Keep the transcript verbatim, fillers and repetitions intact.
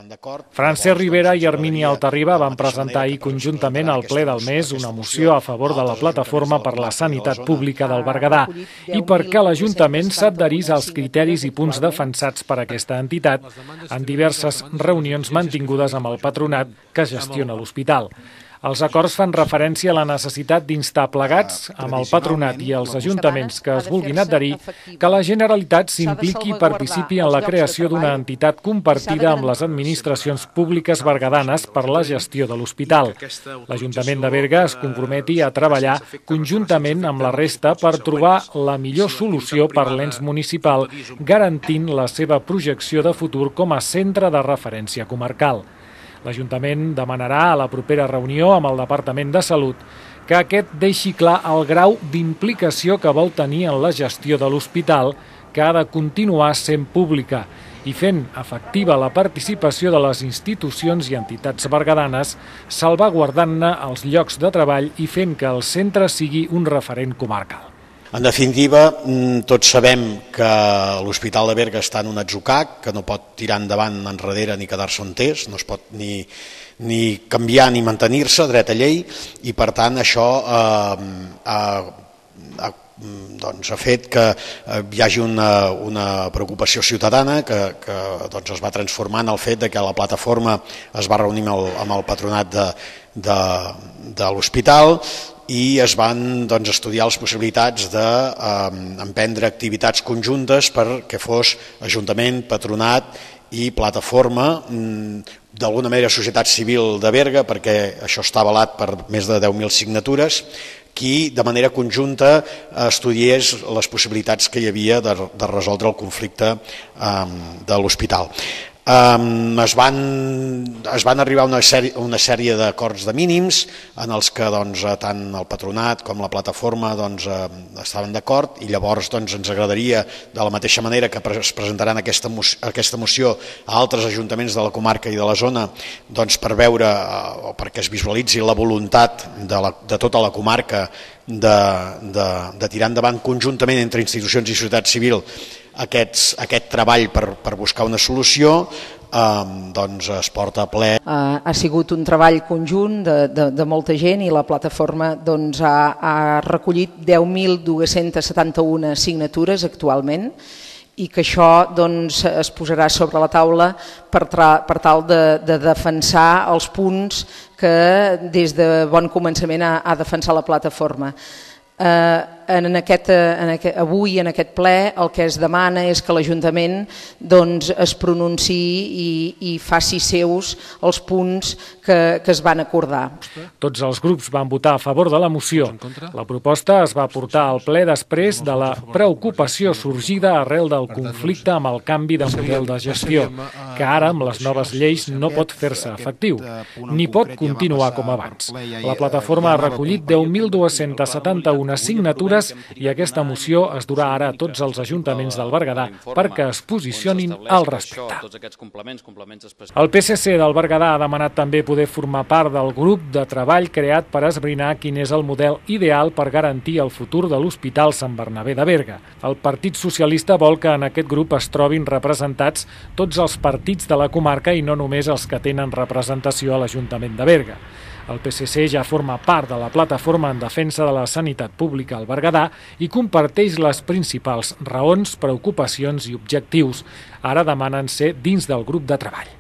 Francesc Rivera i Hermínia Altarriba van presentar ahir conjuntament al ple del mes una moció a favor de la Plataforma per la Sanitat Pública del Berguedà i perquè l'Ajuntament s'adherís als criteris i punts defensats per aquesta entitat en diverses reunions mantingudes amb el patronat que gestiona l'hospital. Els acords fan referència a la necessitat d'instar plegats, amb el patronat i els ajuntaments que es vulguin adherir, que la Generalitat s'impliqui i participi en la creació d'una entitat compartida amb les administracions públiques berguedanes per la gestió de l'hospital. L'Ajuntament de Berga es comprometi a treballar conjuntament amb la resta per trobar la millor solució per l'ens municipal, garantint la seva projecció de futur com a centre de referència comarcal. L'Ajuntament demanarà a la propera reunió amb el Departament de Salut que aquest deixi clar el grau d'implicació que vol tenir en la gestió de l'hospital, que ha de continuar sent pública i fent efectiva la participació de les institucions i entitats berguedanes, salvaguardant-ne els llocs de treball i fent que el centre sigui un referent comarcal. En definitiva, tots sabem que l'Hospital de Berga està en un atzucac, que no pot tirar endavant enrere ni quedar-se on és, no es pot ni, ni canviar ni mantenir-se, dret a llei, i per tant això eh, ha, ha, doncs, ha fet que hi hagi una, una preocupació ciutadana que, que doncs, es va transformar en el fet de que la plataforma es va reunir amb el, amb el patronat de, de, de l'hospital i es van doncs, estudiar les possibilitats d'emprendre eh, activitats conjuntes perquè fos Ajuntament, Patronat i Plataforma, d'alguna manera societat civil de Berga, perquè això està avalat per més de deu mil signatures, qui de manera conjunta estudiés les possibilitats que hi havia de, de resoldre el conflicte eh, de l'hospital. Um, es, van, es van arribar a una sèrie, una sèrie d'acords de mínims en els que doncs, tant el patronat com la plataforma doncs, eh, estaven d'acord i llavors doncs, ens agradaria de la mateixa manera que es presentaran aquesta, aquesta moció a altres ajuntaments de la comarca i de la zona doncs, per veure eh, o perquè es visualitzi la voluntat de, la, de tota la comarca de, de, de tirar endavant conjuntament entre institucions i societat civil Aquests, aquest treball per, per buscar una solució eh, doncs es porta a ple. Uh, ha sigut un treball conjunt de, de, de molta gent i la plataforma doncs, ha, ha recollit deu mil dos-centes setanta-una signatures actualment i que això doncs, es posarà sobre la taula per, tra, per tal de, de defensar els punts que des de bon començament ha, ha defensat la plataforma. Uh, en aquest, en aquest, avui en aquest ple el que es demana és que l'Ajuntament doncs, es pronunciï i, i faci seus els punts que, que es van acordar. Tots els grups van votar a favor de la moció. La proposta es va portar al ple després de la preocupació sorgida arrel del conflicte amb el canvi de model de gestió, que ara amb les noves lleis no pot fer-se efectiu, ni pot continuar com abans. La plataforma ha recollit deu mil dos-centes setanta-una signatures i aquesta moció es durà ara a tots els ajuntaments del Berguedà perquè es posicionin al respecte. El P S C del Berguedà ha demanat també poder formar part del grup de treball creat per esbrinar quin és el model ideal per garantir el futur de l'Hospital Sant Bernabé de Berga. El Partit Socialista vol que en aquest grup es trobin representats tots els partits de la comarca i no només els que tenen representació a l'Ajuntament de Berga. El P S C ja forma part de la plataforma en defensa de la sanitat pública al Berguedà i comparteix les principals raons, preocupacions i objectius. Ara demanen ser dins del grup de treball.